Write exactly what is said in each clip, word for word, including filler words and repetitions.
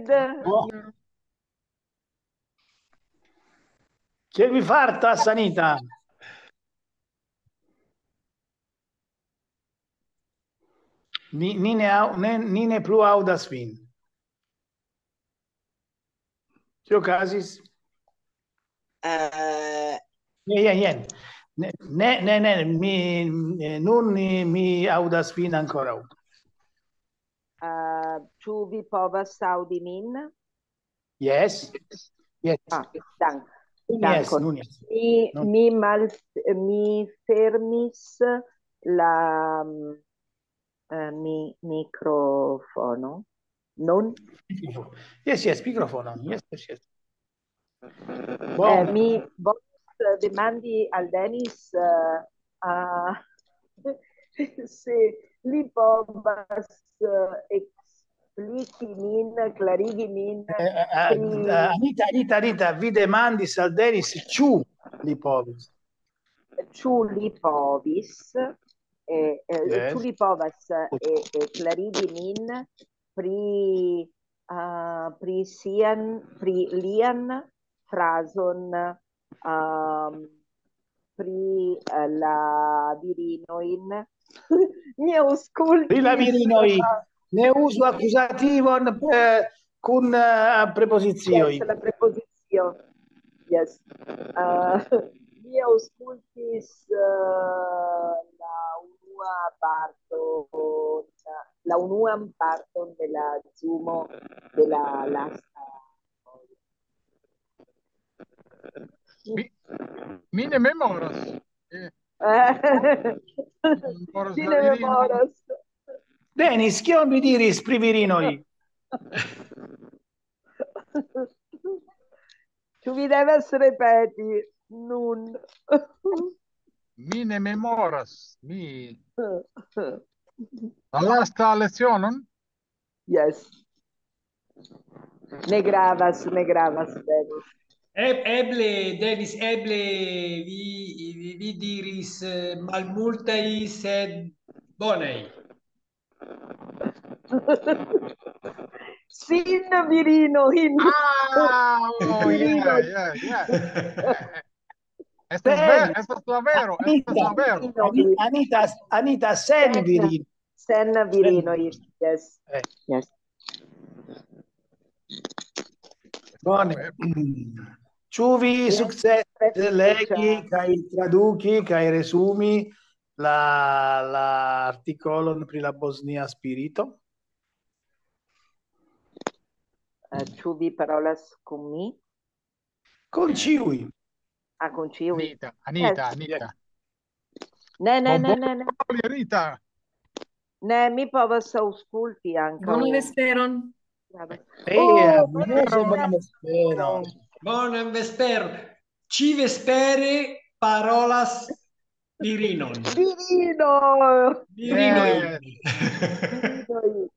Oh. Kiel vi fartas, Anita? Ni, ni ne au-, ne, ni ne plu aŭdas vin. Kio okazis? Eh, Ne, jen, jen. Ne, ne, ne, ne, mi, eh, nun mi, mi aŭdas vin ankoraŭ. Eh, ĉu vi povas aŭdi min? Yes. Yes. Ah, dank. Nun yes, dankon. Nun yes. Mi, Nun. Mi mal, mi fermis la, mm, eh, mi, mikrofono. Non? Yes, yes, mikrofono. Yes, yes, yes. Eh, Bone. Mi volas demandi al Denis, eh, a, se li povas, eh, ekspliki min, klarigi min Eh, eh, eh, pri eh, Anita, Anita, Anita, vi demandis al Denis ĉu li povis. Ĉu li povis, eh, eh, Yes. Ĉu li povas, eh, eh, klarigi min pri, ah, pri sian, pri lian frazon, ehm, pri, eh, la virinojn? Mi aŭskultis. Pri la virinoj. Ne uzu akuzativon, eh, kun, eh, prepozicioj. Yes, la prepozicio. Yes. Eh, mi aŭskultis, eh, la unua parto, la unuan parton de la Zoomo de la lasta. Mi, mi ne memoras. Eh, Eh, memoras Ci la ne virino. Memoras. Denis, kion vi diris pri virinoj? Ĉu vi devas ripeti nun? Mi ne memoras. Mi la lasta lecionon? Yes. Ne gravas, ne gravas, Denis. E-, eble, Denis, eble vi, vi, vi diris, eh, malmultaj, sed bonaj. Sin virino, in. Ah, oh, yeah, yeah, yeah. Estas, Sen. Ver, estas la vero, estas la vero. Anita, Anita, Anita, sen virin. Sen virino, yes. Eh. Yes. Bone. Ĉu vi sukcesis legi kaj traduki kaj resumi la, la artikolon pri la bosnia spirito? Eh, Ĉu vi parolas kun mi? Kun ĉiuj. Ah, kun ĉiuj. Anita, Anita, Yes. Anita. Ne, ne, ne, Bon, ne, ne. Paroli, Anita. Ne, mi povas aŭskulti ankaŭ. Bonan vesperon. Brava. Eh, Oh, amuso, bonan vesperon. Bonan vesper. Ĉi vespere parolas virinon. Virino! Virinoj. Eh, Virinoj.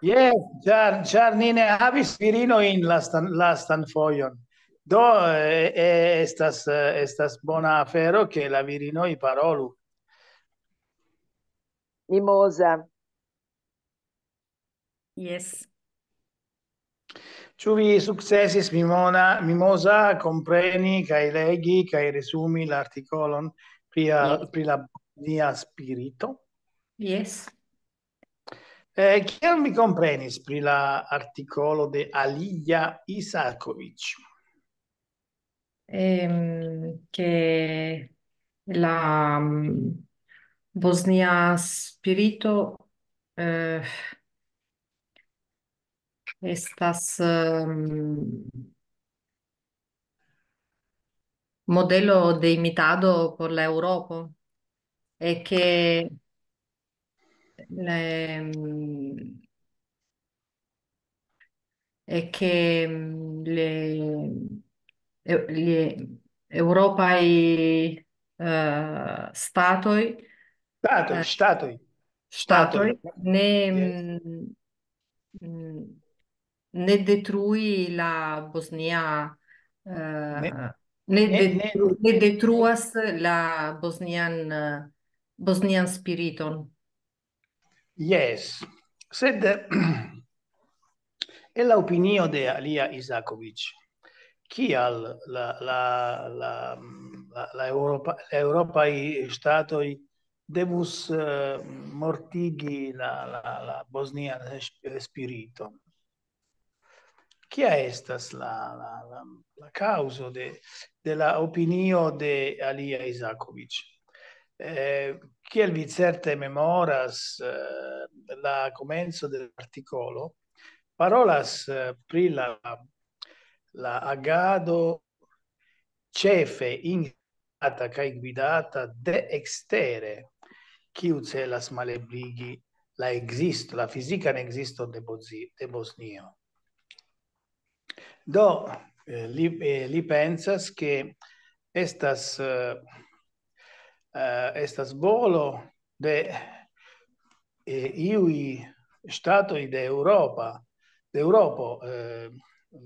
Yes, ĉar, ĉar ni ne havis virinojn lastan, lastan fojon. Do, eh, eh, estas, eh, estas bona afero, ke la virinoj parolu. Mimoza. Yes. Ĉu vi sukcesis, Mimona, Mimoza, kompreni kaj legi kaj resumi la artikolon pri, Yes. Pri la bosnia spirito? Yes. Eh, kiel mi komprenis pri la artikolo de Alija Isakovic? Ehm, che la, mm, Bosnia spirito, eh, estas, ehm, modelo de imitado por la Eŭropo, e ke, ehm, e ke, mm, le, e-, le eŭropaj, eh, statoj, Ŝtatoj, eh, ŝtatoj, ŝtatoj ŝtatoj. ne, Yes. mm, mm, ne detrui la Bosnia, eh, Ne, ne ne, de-, ne. Ne detruas la bosnian, eh, bosnian spiriton. Yes, sed, eh, En la opinio de Alia Izakovic, kial la, la, la, la, la, Europa, la eŭropaj ŝtatoj devus uh, mortigi la, la, la bosnian spiriton? Kia estas la, la, la, la kaŭzo de, de la opinio de Alia Izakovic? Eh, kiel vi certe memoras, eh, la komenco de l'artikolo parolas eh, pri la, la agado ĉefe instata kaj gvidata de ekstere, kiu celas malebligi la ekzisto, la fizikan ekziston de, Bozi, de Bosnio. Do, eh, li, eh, li pensas ke estas, eh, eh, estas volo de eh, iuj ŝtatoj de Europa, de Europo, eh,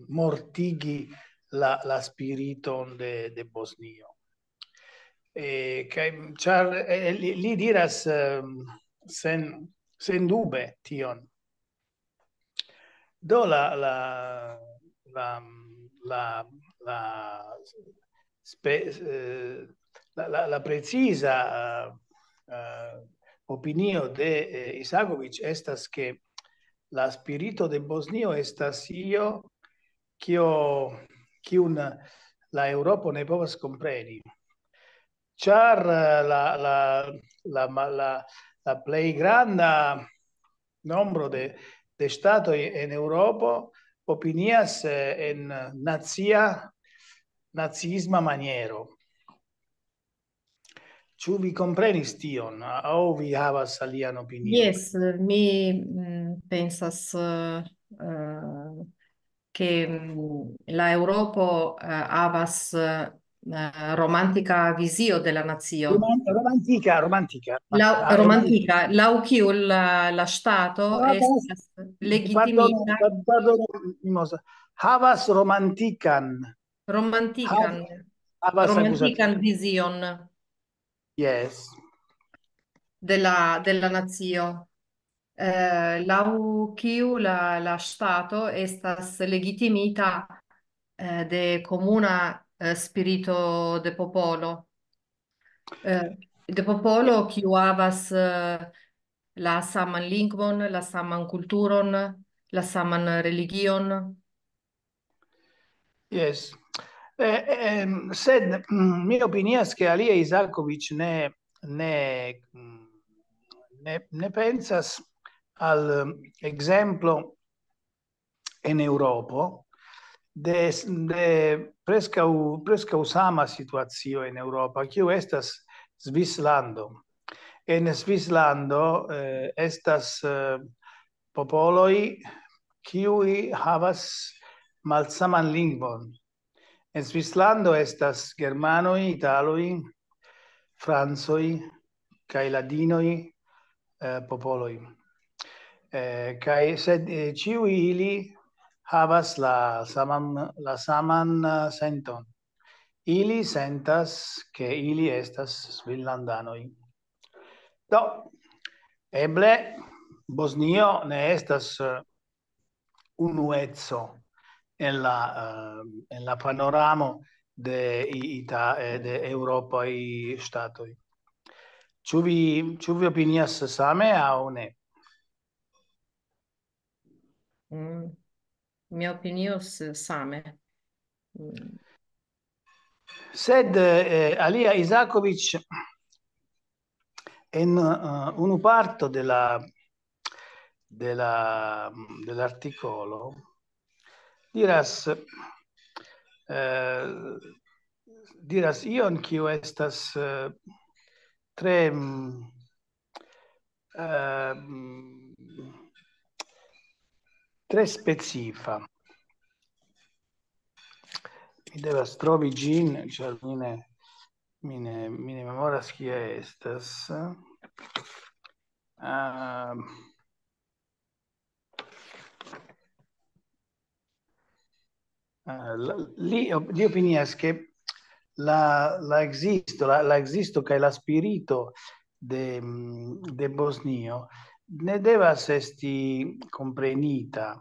mortigi la, la spiriton de, de Bosnio. Eh, kaj, ĉar eh, li, li diras eh, sen, sen dube tion. Do la, la, la, la, la, spe, eh, la, la, la preciza eh, eh, opinio de eh, Isakovic estas ke la spirito de Bosnio estas io kio, kiun la Eŭropo ne povas kompreni. Ĉar eh, la, la, la, la, la plej granda nombro de, de ŝtatoj en Eŭropo opinias eh, en nacia, naciisma maniero. Ĉu vi komprenis tion, aŭ vi havas alian opinion? Jes, mi mm, pensas eh, eh, ke mm, la Eŭropo eh, havas eh, romantika vizio de la nacio. Roman-, romantika, romantika. Laŭ, ah, romantika, laŭ kiu la, la ŝtato ah, estas legitimita. Pardonu, pardonu, Mimosa. Havas romantikan. Romantikan. Havas, havas romantikan vizion. Yes. De la, de la nacio. Eh, laŭ kiu la, la ŝtato estas legitimita eh, de komuna eh, spirito de popolo. Eh, de popolo kiu havas eh, la saman lingvon, la saman kulturon, la saman religion. Yes. Eh, eh, sed mm, mi opinias ke Alia Izakovic ne, ne, mm, ne, ne pensas al mm, ekzemplo en Eŭropo de, de preskaŭ, preskaŭ sama situacio en Eŭropa, kiu estas Svislando. En Svislando eh, estas eh, popoloj, kiuj havas malsaman lingvon. En Svislando estas germanoj, italoj, francoj kaj ladinoj, eh, popoloj. Eh, kaj sed eh, ĉiuj ili havas la saman, la saman eh, senton. Ili sentas, ke ili estas svillandanoj. Do, eble Bosnio ne estas eh, unueco en la, eh, en la panoramo de, i- ita, eh, de Eŭropaj ŝtatoj. Ĉu vi, ĉu vi opinias same aŭ ne? Mm, mi opinios same. Mm. Sed eh, Alia Izakovic en eh, unu parto de la, de la, de l'artikolo diras, eh, diras ion kiu estas eh, tre, mm, eh, mm, tre specifa. Mi devas trovi ĝin, ĉar mi ne, mi ne, mi ne memoras kie estas. Ah, ah, la- li, op- li opinias ke la, la existo, la, la existo kaj la spirito de, mm, de Bosnio ne devas esti komprenita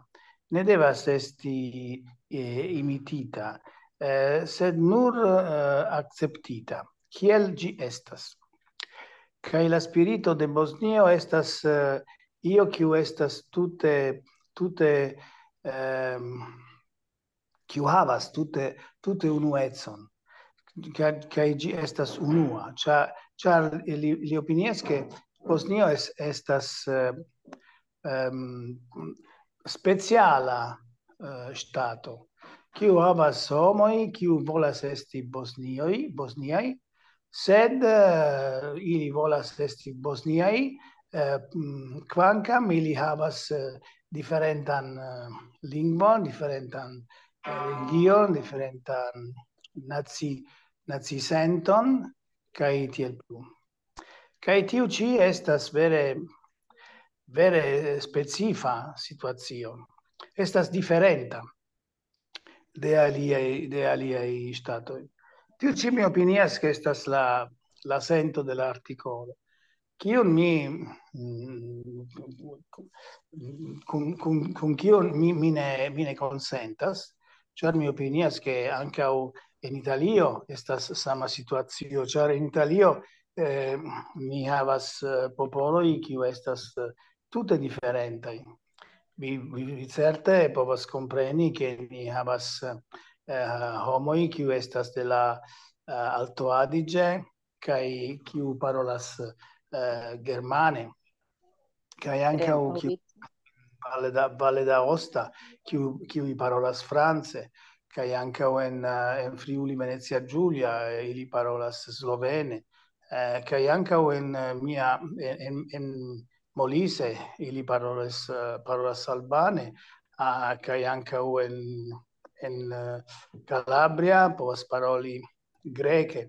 ne devas esti, eh, imitita, eh, sed nur, eh, akceptita, kiel ĝi estas. Kaj la spirito de Bosnio estas, eh, io kiu estas tute, tute, ehm, kiu havas tute, tute unuecon, kaj, kaj ĝi estas unua, ĉa-, ĉar li, li opinias, ke Bosnio es-, estas, eh, ehm, speciala, eh, ŝtato, kiu havas homoj, kiu volas esti Bosnioj, Bosniaj, sed, eh, ili volas esti Bosniaj, eh, mm, kvankam ili havas, eh, diferentan, eh, lingvon, diferentan, eh, religion, diferentan naci-, nacisenton, kaj tiel plu. Kaj tiu ĉi estas vere, vere specifa situacio. Estas diferenta de aliaj, de aliaj ŝtatoj. Tiu ĉi mi opinias, ke estas la, la sento de la artikolo. Kiun mi, mm, kun, kun, kun kiun mi, mi ne, mi ne konsentas, ĉar mi opinias, ke ankaŭ en Italio estas sama situacio, ĉar en Italio, eh, ni havas, eh, popoloj, kiu estas, eh, tute diferentaj. Vi, vi, vi certe povas kompreni, ke ni havas, eh, homoj, kiu estas de la, eh, Alto Adige, kaj kiu parolas, eh, germane, kaj ankaŭ kiu Valle da, Valle d'Aosta, kiu, kiuj parolas france, kaj ankaŭ en, eh, en Friuli Venezia Giulia, eh, ili parolas slovene, eh, kaj ankaŭ en, eh, mia, en, en, en Molise ili parolas, eh, parolas albane, ah, kaj ankaŭ en, en, eh, Calabria povas paroli greke.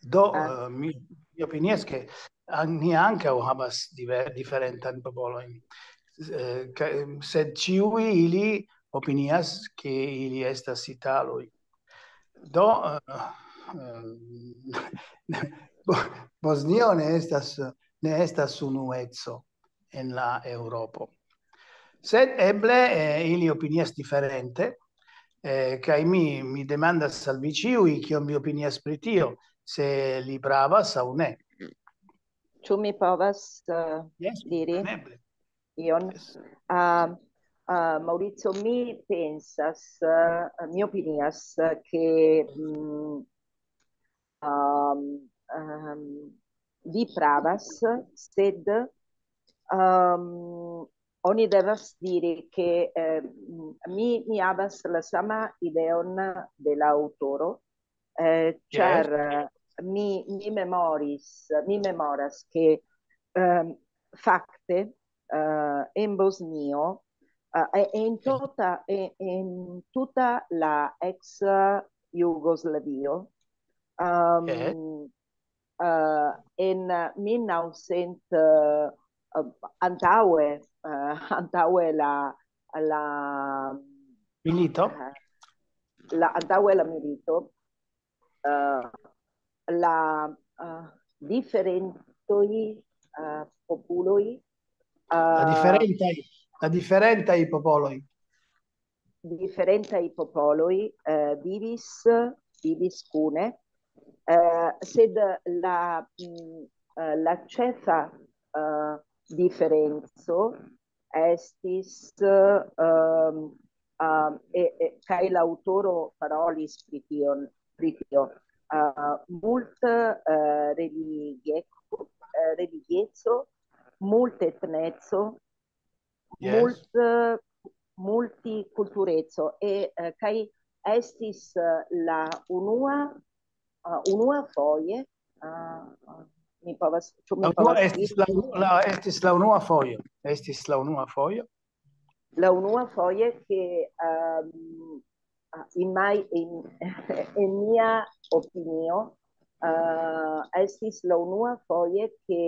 Do, ah, eh, mi, mi opinias, ke an-, ni ankaŭ havas diver-, diferentan popolojn. Eh, ka-, sed ĉiuj ili opinias, ke ili estas italoj. Do, eh, eh, Bo-, Bosnio ne estas, ne estas unueco en la Eŭropo. Sed eble, eh, ili opinias diferente, eh, kaj mi, mi demandas al vi ĉiuj, kion vi opinias pri tio, se li pravas aŭ ne. Ĉu mi povas, eh, Jes, diri kompreneble. Ion? Jes. Ah, ah, Maurizio, mi pensas, eh, mi opinias, ke, mm, ehm, ehm, vi pravas, sed, ehm, oni devas diri, ke, eh, mi, mi havas la sama ideon de la aŭtoro, eh, Jes. Ĉar, eh, mi, mi memoris, mi memoras, ke, ehm, fakte, eh, en Bosnio, eh, e, en tuta, e, en tuta la ex Jugoslavio, ehm, Jes. Eh, en mil naŭcent, eh, eh, antaŭe, eh, antaŭe la, la Milito? Eh, la, antaŭe la milito, eh, la, eh, diferentoj, eh, populoj, la, eh, diferentaj, la diferentaj popoloj. Diferentaj popoloj, eh, vivis, vivis kune, eh, sed la, mm, eh, la ĉefa, eh, diferenco estis, ehm, ehm, e, e, kaj la aŭtoro parolis pri tion, pri tio, eh, multe, eh, religie-, eh, religieco, multetneco, Jes. Mult-, multikultureco, e, eh, kaj estis, eh, la unua, eh, unua foje, eh, mi povas, ĉu mi La unua povas estis diri? La, la, estis la unua fojo. Estis la unua fojo. La unua foje ke, ehm, ah, in my, in, en mia opinio, eh, estis la unua foje ke,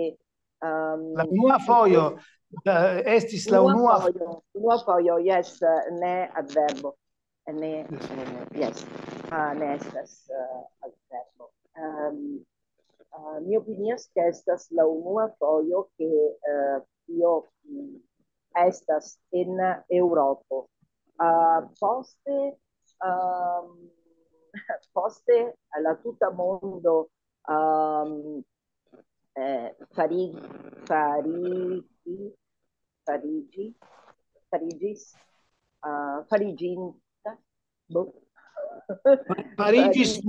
ehm, La unua fojo, eh, estis la unua unua fojo, unua fojo, jes, eh, ne adverbo. Ne, eh, jes. Ah, ne estas, eh, adverbo. Ehm, ah, mi opinias ke estas la unua fojo ke, eh, io, mm, estas en Eŭropo. Uh, poste, um, poste la tuta mondo um, eh, fari, fari, farigi, farigis, uh, fariginta, boh. Farigis,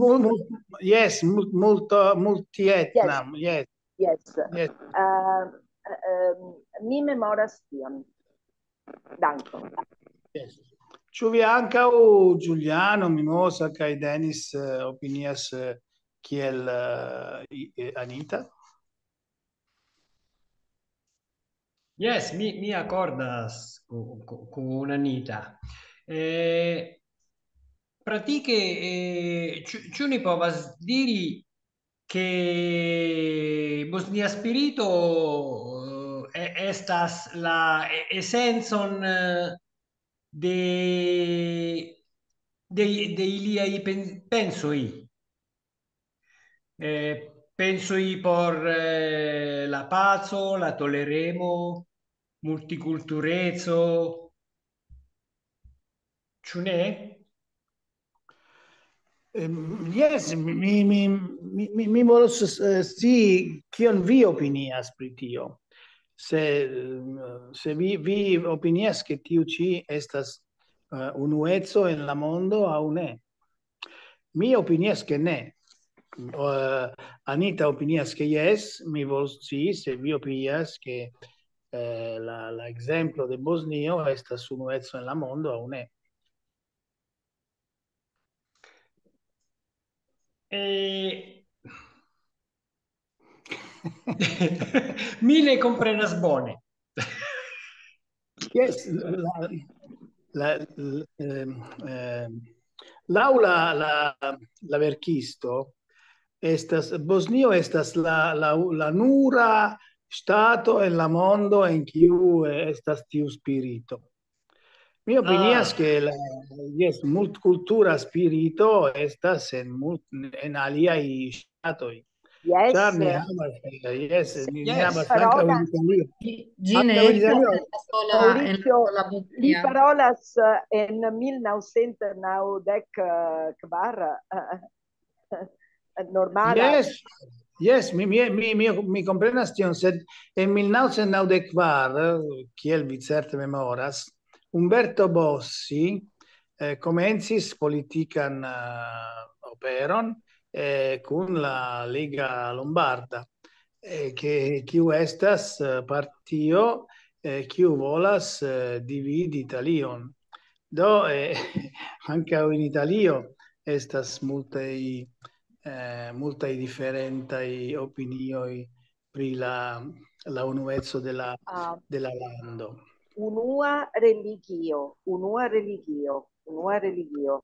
yes, multo, multietna, yes. Yes. Yes. Uh, um, mi memoras tion. Dankon. Yes. Ĉu vi ankaŭ, Giuliano, Mimosa kaj Denis, uh, opinias uh, kiel uh, Anita? Yes, mi, mi accordas con, con Anita. Eh, pratique, eh, ci, ci ne povas diri che Bosnia Spirito eh, estas la essenson de, de, de iliai pensoi. Eh, pensoi por eh, la paco, la toleremo, multikultureco. Ĉu ne? Um, yes, mi, mi, mi, mi volos uh, scii kion vi opinias pri tio. Se, uh, se vi, vi opinias, ke tiu ĉi estas uh, unueco en la mondo aŭ ne. Mi opinias, ke ne. Uh, Anita opinias, ke yes, mi volos scii se vi opinias, ke uh, la, la ekzemplo de Bosnio estas unueco en la mondo aŭ ne. E... Mi ne comprenas bone. Yes, la, la, eh, eh, laŭ la, la, la verkisto, estas, Bosnio estas la, la, la nura stato en la mondo en kiu estas tiu spirito. Mi opinias, ah, ke la, yes, multkultura spirito estas en, mult, en aliaj ŝtatoj. Yes. Ĉar ni havas, yes, ni, yes, ni havas ankaŭ en Italio. Ĝi ne estas la sola en la... Li parolas en mil naŭcent naŭdek kvar. Normala. Yes. Yes, mi, mi, mi, mi, mi komprenas tion, sed en mil naŭcent naŭdek kvar, kiel vi certe memoras, Umberto Bossi eh, komencis politikan eh, operon eh, kun la Liga Lombarda, eh, ke, kiu estas eh, partio eh, kiu volas eh, dividi Italion. Do, eh, ankaŭ en Italio estas multaj, eh, multaj diferentaj opinioj pri la, la unueco de la, ah, de la lando. Unua religio, unua religio, unua religio.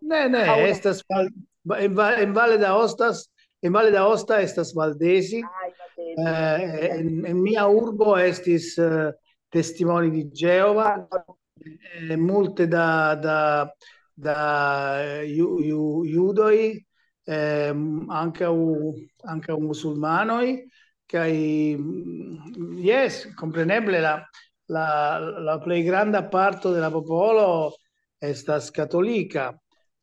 Ne, ne, estas en Valle d'Aosta, en Valle d'Aosta estas valdesi. Eh, en, en mia urbo estis eh, testimoni di Geova, eh, multe da, da, da ju, ju, judoj, eh, ankaŭ, ankaŭ musulmanoj, kaj mm, yes, kompreneble la, la, la plej granda parto de la popolo estas katolika,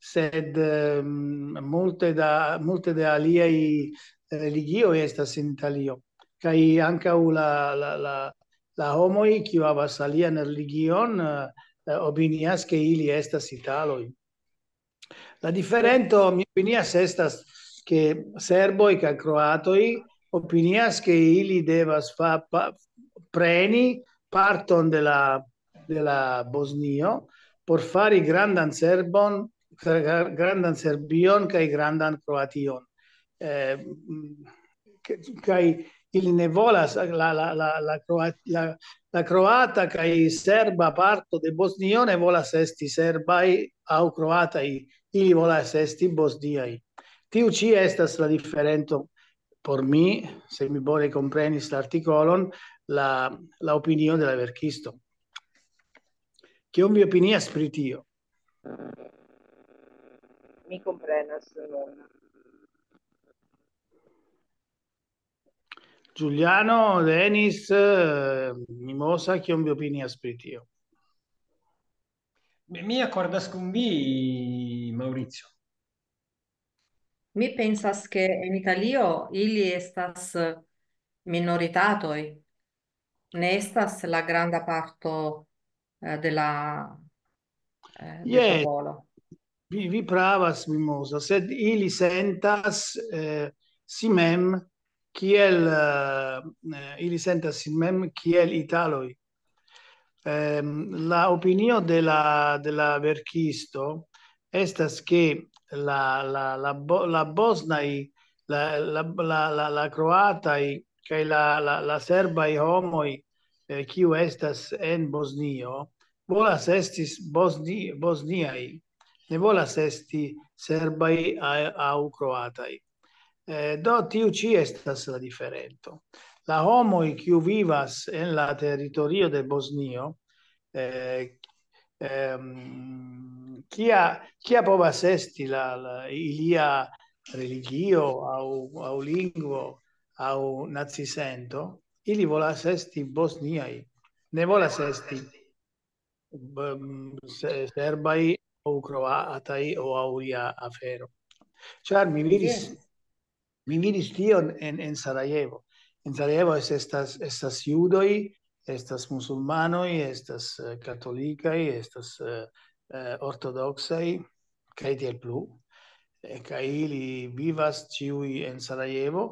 sed um, multe, da, multe de aliaj religioj estas en Italio. Kaj ankaŭ la, la, la, la homoj, kiu havas alian religion, uh, opinias, ke ili estas italoj. La diferento, mi opinias, estas, ke serboj kaj kroatoj opinias, ke ili devas fa, pa, preni parton de la, de la Bosnio por fari grandan Serbon, grandan Serbion kaj grandan Kroation. Eh, kaj ili ne volas, la, la, la, la, kroat, la, la kroata kaj serba parto de Bosnio ne volas esti serbaj aŭ kroataj, ili volas esti bosniaj. Tiu ĉi estas la diferento por mi, se mi bone komprenis la artikolon, la, la opinio de la verkisto. Kion vi opinias pri tio? Mi komprenas nun. Giuliano, Denis, eh, Mimosa, kion vi opinias pri tio? Mi akordas kun vi, Maurizio. Mi pensas, ke en Italio ili estas minoritatoj, ne estas la granda parto eh, de la eh, de Yes. popolo. Vi, vi pravas, Mimosa, sed ili sentas eh, si mem kiel eh, eh, ili sentas si mem kiel italoj. Ehm, la opinio de la, de la verkisto estas, ke la, la, la, bo- la bosnaj, la, la, la, la, la kroataj kaj la, la, la serbaj homoj, eh, kiu estas en Bosnio, volas estis bosni, bosniaj, ne volas esti serbaj a- aŭ kroataj. Eh, do tiu ĉi estas la diferento. La homoj, kiu vivas en la teritorio de Bosnio, eh, ehm, kia, kia povas esti la, la, ilia religio aŭ, aŭ lingvo aŭ nacisento, ili volas esti bosniaj, ne volas esti mm, se- serbaj aŭ kroataj aŭ aŭ ia afero. Ĉar mi vidis, Yes. Mi vidis tion en, en Sarajevo. En Sarajevo es- estas, estas judoj, estas musulmanoj, estas eh, katolikaj, estas eh, eh, ortodoksaj, kaj tiel plu. Eh, Kaj ili vivas ĉiuj en Sarajevo,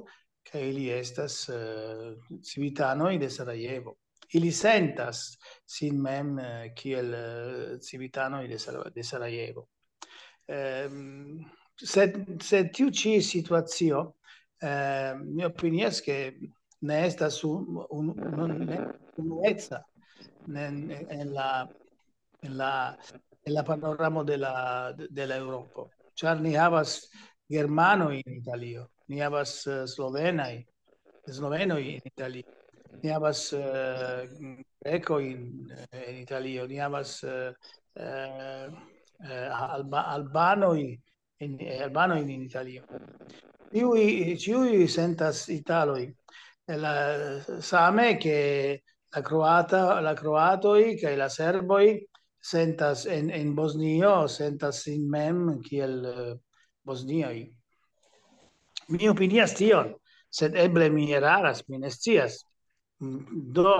kaj ili estas eh, civitanoj de Sarajevo. Ili sentas sin mem eh, kiel eh, civitanoj de Sara- de Sarajevo. Ehm, sed, sed tiu ĉi situacio, eh, mi opinias, ke ne estas un, un, un, ne, unueca ne, ne, en la, en la, en la panoramo de la, de la Eŭropo. Ĉar ni havas germanoj en Italio, ni havas eh, slovenaj, slovenoj en Italio, ni havas eh, grekoj en, en Italio, ni havas eh, eh, eh, alba, albanoj en, eh, albanoj en Italio. Ĉiuj, ĉiuj sentas italoj. La, same ke la kroata, la kroatoj kaj la serboj sentas en, en Bosnio, sentas sin mem kiel eh, bosniaj. Mi opinias tion, sed eble mi eraras, mi ne scias. Mm, Do,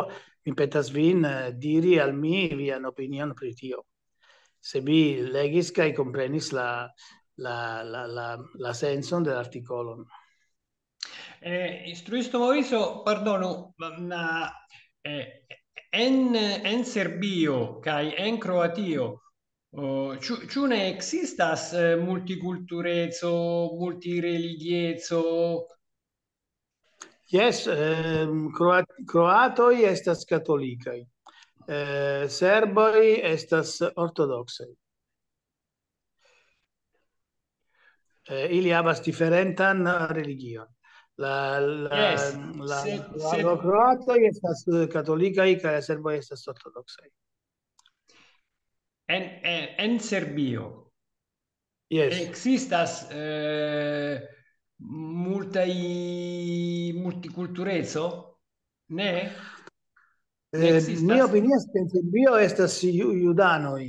mi petas vin eh, diri al mi vian opinion pri tio. Se vi legis kaj komprenis la, la, la, la, la senson de la artikolon. Eh, instruisto Maurizio, pardonu, ma eh, en, en Serbio kaj en Kroatio, oh, ĉu, ĉu ne ekzistas eh, multikultureco, multireligieco? Jes, ehm, kroat, kroatoj estas katolikaj. Eh, serboj estas ortodoksaj. Eh, ili havas diferentan religion. La, la, Yes, la, sed, la, sed la kroatoj estas eh, katolikaj kaj la serboj estas ortodoksaj. En, en, en Serbio Yes. ekzistas eh, multaj multikultureco? Ne? Ne Eh, ekzistas? Mi opinias, ke en Serbio estas ju- judanoj,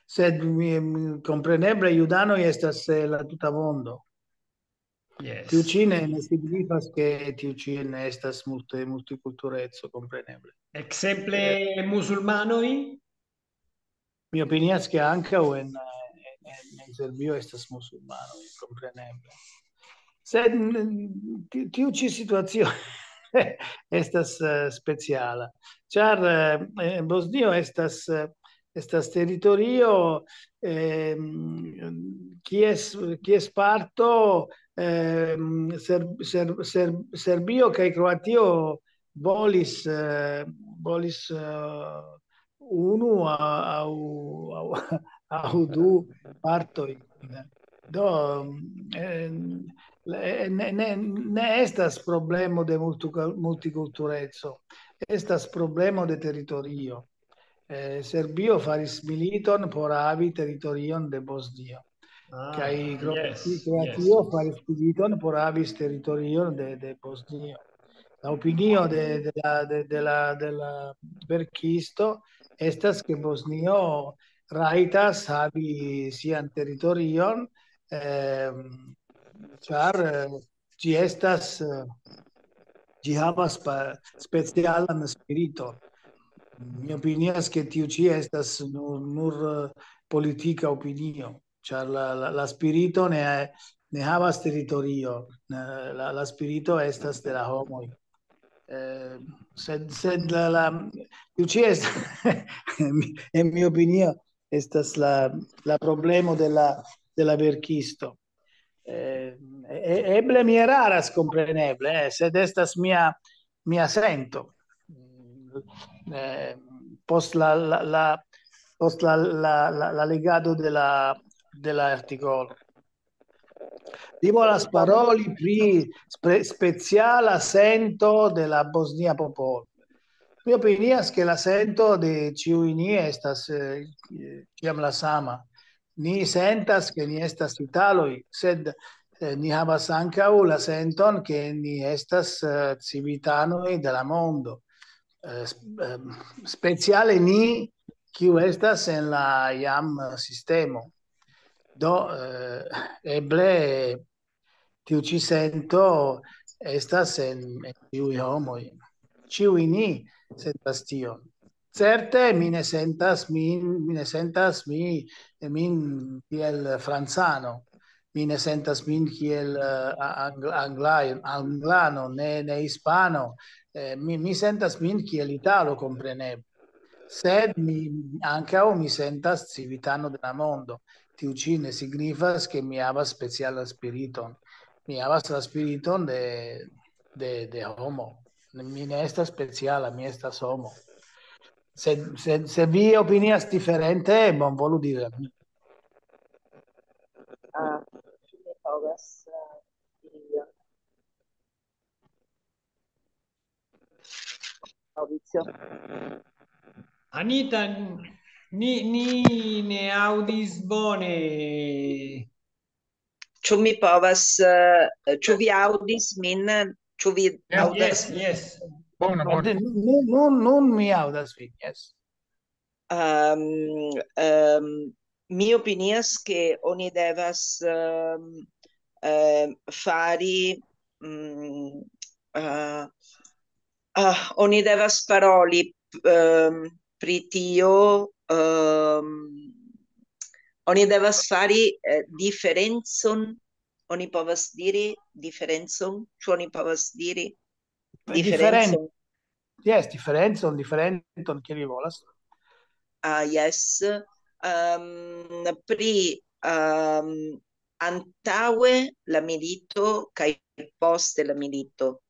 sed mi, mi, kompreneble judanoj estas eh, la tuta mondo. Yes. Tiu ĉi ne, ne signifas, ke tiu ĉi ne estas multe multikultureco, kompreneble. Ekzemple musulmanoj? Mi opinias, ke ankaŭ en, en, en Serbio estas musulmanoj, kompreneble. Sed mm, ti- tiu ĉi situacio estas eh, speciala, ĉar eh, en Bosnio estas, eh, estas teritorio ehm, kies, kies parto ehm, Ser, Ser, Ser, Serbio kaj Kroatio volis, eh, volis eh, unu a- aŭ, aŭ, aŭ du partoj. Do, eh, ne, ne, ne estas problemo de multikultureco, estas problemo de teritorio. Eh, Serbio faris militon por havi teritorion de Bosnio. Ah, Kaj Kro- yes, Kroatio yes. faris militon por havis teritorion de, de Bosnio. La opinio de, de la, de, de la, de la verkisto estas, ke Bosnio rajtas havi sian teritorion, ehm, ĉar, eh, ĝi estas, eh, ĝi havas pa-, specialan spiriton. Mi opinias, ke tiu ĉi estas nur, nur, eh, politika opinio, ĉar la, la, la spirito ne, ne havas teritorio, ne, la, la spirito estas de la homoj. Eh, sed, sed la, la, tiu ĉi est-, en mi opinio, estas la, la problemo de la, de la verkisto. Eh, e-, eble mi eraras, kompreneble, eh, sed estas mia, mia sento. Eh, post la, la, la, post la, la, la, la legado de la, de la artikolo. Vi volas paroli pri spe-, speciala sento de la bosnia popolo. Mi opinias, ke la sento de ĉiuj ni estas, eh, ĉiam la sama. Ni sentas, ke ni estas italoj, sed, eh, ni havas ankaŭ la senton, ke ni estas, eh, civitanoj de la mondo. Eh, sp-, eh, speciale ni, kiu estas en la jam sistemo. Do, eh, eble tiu ĉi sento estas en, en ĉiuj homoj. Ĉiuj ni sentas tion. Certe, mi ne sentas min, mi ne sentas mi, min kiel francano. Mi ne sentas min kiel, eh, ang-, anglaj-, anglano, ne, ne hispano. Eh, mi, mi sentas min kiel italo, kompreneble. Sed mi, ankaŭ mi sentas civitano de la mondo. Tiu ĉi ne signifas, ke mi havas specialan spiriton. Mi havas la spiriton de, de, de homo. Mi ne estas speciala, mi estas homo. Se, se, se vi opinias diferente, bonvolu diri al mi. Ah, ĉu mi povas, eh, diri ion? Maurizio? Anita, ni, ni ne aŭdis bone. Ĉu mi povas, eh, ĉu vi aŭdis min? Ĉu vi Yes, aŭdas? Yes. Bona, bona. Nun, nun, nun mi aŭdas vin, yes. Ehm, ehm, mi opinias, ke oni devas, ehm, ehm, fari, mm, eh, ah, oni devas paroli, ehm, pri tio, ehm, oni devas fari, eh, diferencon, oni povas diri diferencon, ĉu oni povas diri Diferen-, diferencon? Yes, diferencon, diferenton, kiel vi volas. Ah, yes. Ehm, pri, ehm, antaŭe la milito kaj poste la milito.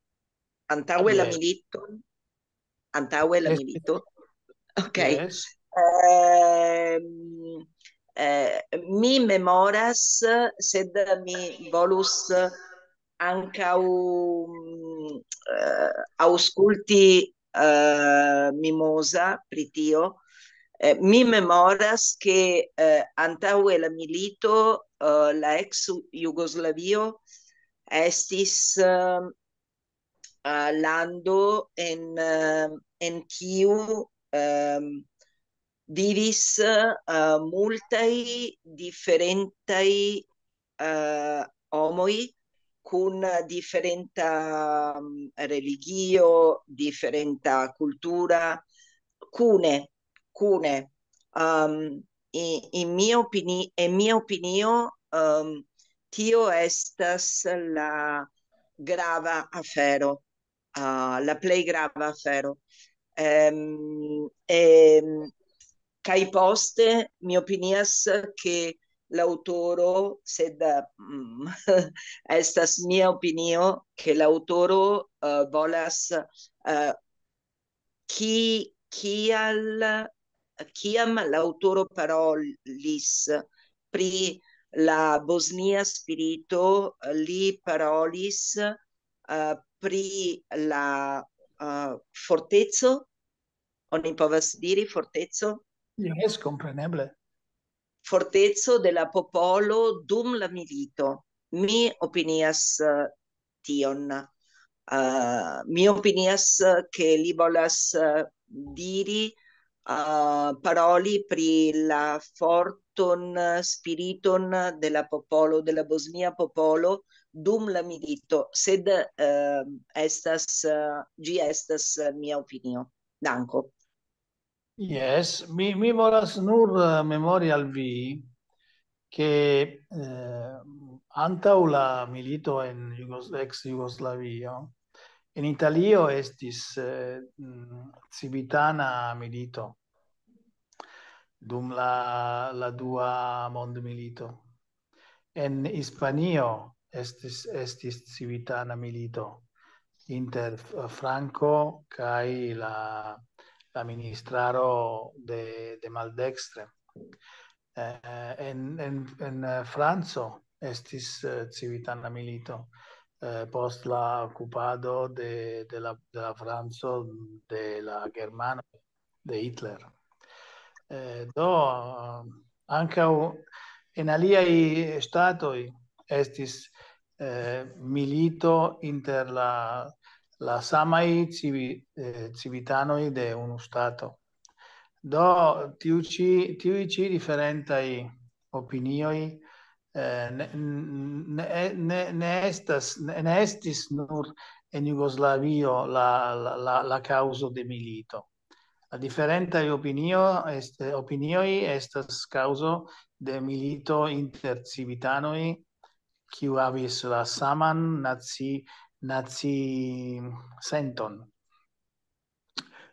Antaŭe la Yes. milito. Antaŭe la Yes. milito. Ok. Yes. Ehm, eh, mi memoras, sed mi volus ankaŭ, mm, eh, aŭskulti, eh, Mimosa pri tio. Eh, mi memoras, ke, eh, antaŭe la milito, eh, la ex Jugoslavio estis, eh, eh, lando en, eh, en kiu, ehm, vivis, eh, multaj diferentaj, eh, homoj kun diferenta, mm, religio, diferenta kultura, kune, kune. Ehm, i-, in mia opini-, en mia opinio, ehm, tio estas la grava afero, ah, la plej grava afero. Ehm, ehm, kaj poste mi opinias, ke l'aŭtoro, sed, mm, estas mia opinio, ke l'aŭtoro, eh, volas, eh, ki-, kial, kiam l'aŭtoro parolis pri la bosnia spirito, li parolis, eh, pri la, eh, forteco, oni povas diri forteco? Jes, kompreneble. Forteco de la popolo dum la milito. Mi opinias eh, tion. Uh, mi opinias eh, ke li volas eh, diri, uh, paroli pri la forton, eh, spiriton de la popolo, de la bosnia popolo dum la milito, sed eh, estas, eh, ĝi estas eh, mia opinio. Danko. Jes, mi, mi volas nur eh, memori al vi, ke eh, antaŭ la milito en Jugos-, ex Jugoslavio, en Italio estis eh, mm, civitana milito dum la, la dua mondmilito. En Hispanio estis, estis civitana milito inter F-, Franco kaj la, la ministraro de, de maldekstre. Eh, en, en, en eh, Franco estis eh, civitana milito eh, post la okupado de, de la, de la Franco de la Germano, de Hitler. Eh, do, ankaŭ en aliaj ŝtatoj estis eh, milito inter la, la samaj civi, eh, civitanoj de unu ŝtato. Do, tiu ĉi, tiuj ĉi diferentaj opinioj eh, ne, ne, ne, ne estas, ne, ne estis nur en Jugoslavio la, la, la, la kaŭzo de milito. La diferentaj opinio, est, opinioj estas kaŭzo de milito inter civitanoj, kiu havis la saman naci, naci senton.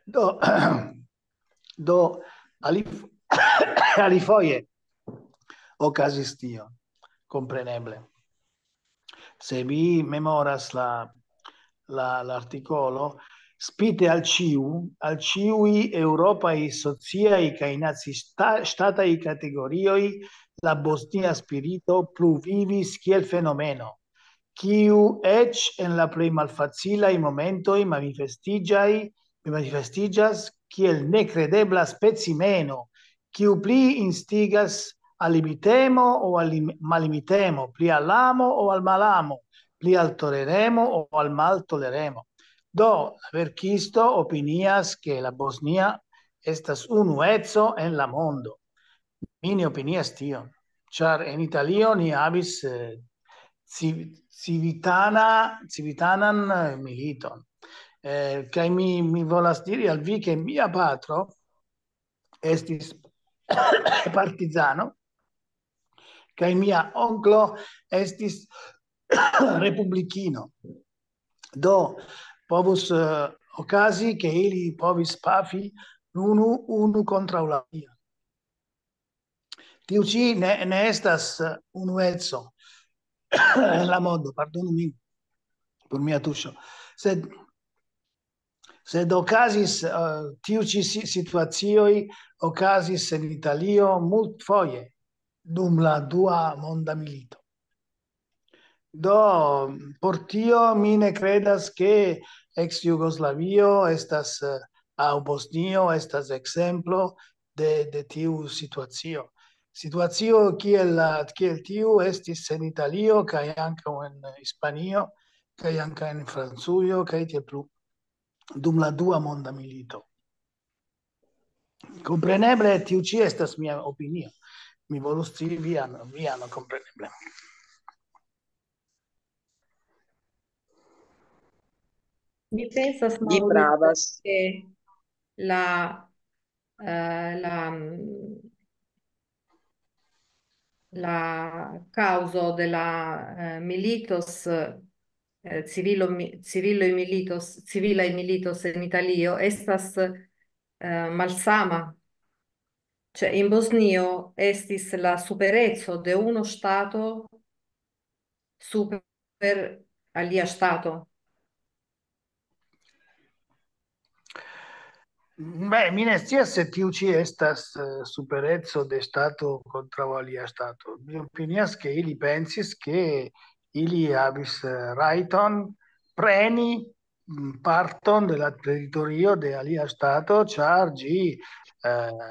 Do, do ali, alifoje okazis tio, kompreneble. Se vi memoras la, la, l'artikolo, spite al ĉiu, al ĉiuj eŭropaj sociaj kaj nacistataj kategorioj, la bosnia spirito plu vivis kiel fenomeno, kiu eĉ en la plej malfacilaj momentoj manifestiĝaj, manifestiĝas kiel nekredebla specimeno, kiu pli instigas al limitemo o al lim-, mallimitemo, pli al amo o al malamo, pli al toleremo o al maltoleremo. Do, la verkisto opinias, ke la Bosnia estas unueco en la mondo. Mi ne opinias tion, ĉar en Italio ni havis eh, civ-, civitana, civitanan eh, militon. Eh, kaj mi, mi volas diri al vi, ke mia patro estis partizano, kaj mia onklo estis republikino. Do, povus eh, okazi, ke ili povis pafi unu, unu kontraŭ la alia. Tiu ĉi ne, ne estas eh, unueco en la mondo, pardonu min por mia tuŝo. Sed, sed okazis, eh, tiu ĉi si-, situacioj okazis en Italio multfoje dum la dua monda milito. Do, por tio mi ne kredas, ke ex Jugoslavio estas, eh, aŭ Bosnio estas ekzemplo de, de tiu situacio. Situacio kiel, la, kiel tiu estis en Italio, kaj ankaŭ en Hispanio, kaj ankaŭ en Francujo, kaj tiel plu, dum la dua monda milito. Kompreneble, tiu ĉi estas mia opinio. Mi volus scii vian, vian kompreneble. Mi pensas, Vi Mauro, pravas. Che la, eh, la, mm, la causo de la eh, militos, eh, civilo, mi- civilo militos, civilaj militos en Italio estas eh, malsama. Cioè, in Bosnio estis la superezzo de uno stato super alia stato. Beh, mi ne scias se tiu ĉi estas eh, superezzo de stato kontraŭ alia stato. Mi opinias, ke ili pensis, ke ili havis eh, rajton preni mm, parton de la teritorio de alia ŝtato, ĉar ĝi, eh,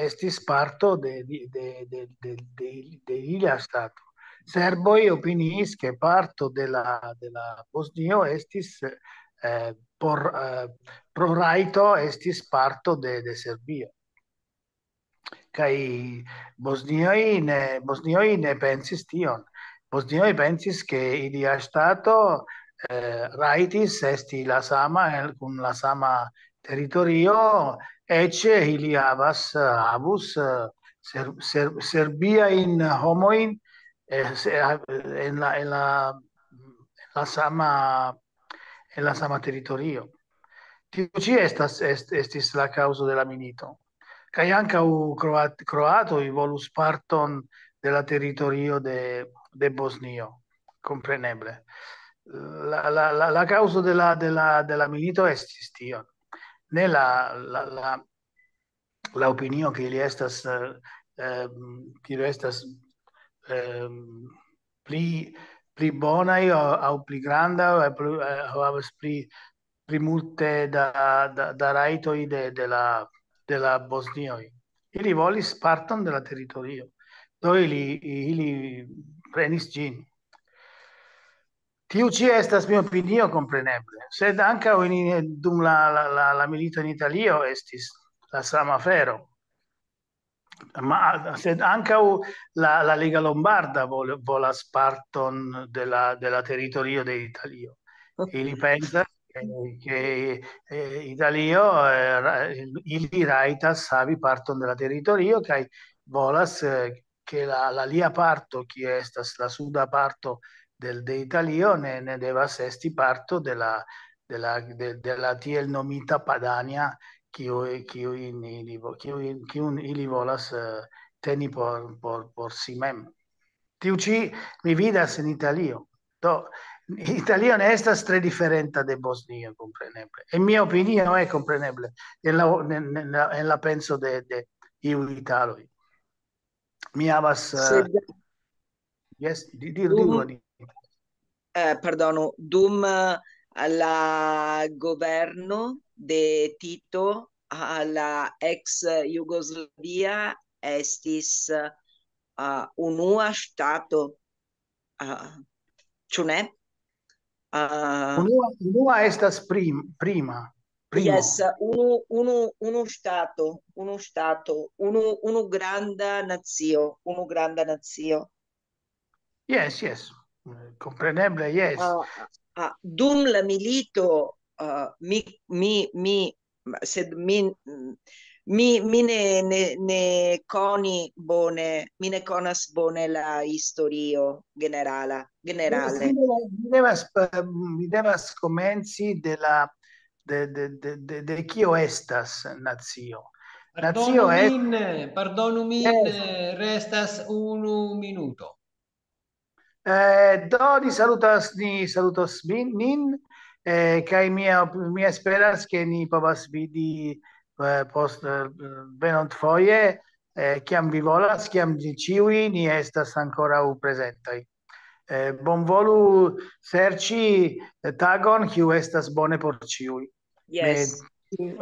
estis parto de, de, de, de, de, de, de ilia ŝtato. Serboj opiniis, ke parto de la, de la Bosnio estis, eh, por, eh, pro rajto estis parto de, de Serbio. Kaj bosnioj ne, bosnioj ne pensis tion. Bosnioj pensis, ke ilia ŝtato, eh, rajtis esti la sama el, kun la sama teritorio, eĉ ili havas, eh, havus, eh, ser, ser, serbiajn homojn, eh, se, eh, en la, en la, en la sama, en la sama teritorio. Tiu ĉi estas, est, estis la kaŭzo de la milito. Kaj ankaŭ kroat-, kroatoj volus parton de la teritorio de, de Bosnio, kompreneble. La, la, la, la kaŭzo de la, de la, de la milito estis tion. Ne la, la, la, la opinio, ke ili estas, eh, ehm, ke ili estas, ehm, pli, pli bonaj aŭ, aŭ pli granda, aŭ pli, eh, aŭ havas pli, pli multe da, da, da rajtoj de, de la, de la bosnioj. Ili volis parton de la teritorio. Do ili, ili prenis ĝin. Tiu ĉi estas mia opinio, kompreneble. Sed ankaŭ in, dum la, la, la, la milito en Italio estis la sama afero. Ma, sed ankaŭ la, la Lega Lombarda vol-, volas parton de la, de la teritorio de Italio. Ili pensas, eh, ke, eh, Italio, eh, ra-, ili rajtas havi parton de la teritorio, kaj volas, eh, ke la, la lia parto, kie estas la suda parto del, de Italio, ne, ne devas esti parto de la, de la, de, de la tiel nomita Padania, kiu, kiu in, ili vo-, kiu in, kiun ili volas, eh, teni por, por, por si mem. Tiu ĉi mi vidas en Italio. Do, Italio ne estas tre diferenta de Bosnio, kompreneble. En mia opinio, eh, kompreneble, en la, en, en la, en la penso de, de iu italoj. Mi havas, eh, Sed yes, di-, dir-, dum, diru, Anita. Eh, pardonu, dum, eh, la governo de Tito, a la ex Jugoslavia estis, eh, unua ŝtato, eh, ĉu ne? Eh, Unua, unua estas prim-, prima, primo. Yes, unu, unu, unu ŝtato, unu ŝtato, unu, unu granda nacio, unu granda nacio. Yes, yes. Eh, kompreneble, yes. Ah, ah, dum la milito, ah, mi, mi, mi, sed mi, mi, mi ne, ne, ne koni bone, mi ne konas bone la historio generala, Yes, generale. Mi devas, mi devas, eh, mi devas komenci de la, de, de, de, de, de kio estas nacio. Pardonu Nacio est-, min, pardonu min, Yes. Eh, restas unu minuto. Eh, do ni salutas, ni salutas min, nin, eh, kaj mi, mi esperas, ke ni povas vidi, eh, post, eh, venonfoje, eh, kiam vi volas, kiam ni ĉiuj ni estas ankoraŭ prezentaj. Eh, bonvolu serĉi, eh, tagon, kiu estas bone por ĉiuj. Yes. Ne,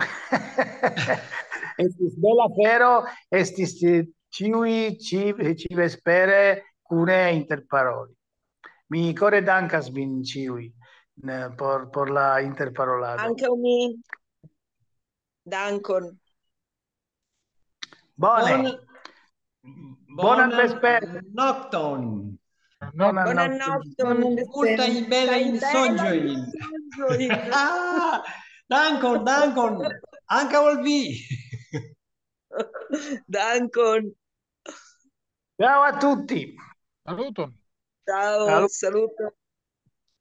estis bela afero, estis, eh, ĉiuj ĉi-, ĉi-vespere kune interparoli. Mi kore dankas vin ĉiuj, ne, por, por la interparolado. Ankaŭ mi. Dankon. Bone. Bon-, Bonan bonan vesperon. Nokton. Bonan Bonan nokton. Nokton. Multajn belajn Kaj belajn sonĝojn. Sonĝojn. Ah, dankon, dankon. Ankaŭ al vi. Dankon. Ciao a tutti. Saluton. Ciao, Salut. Saluton.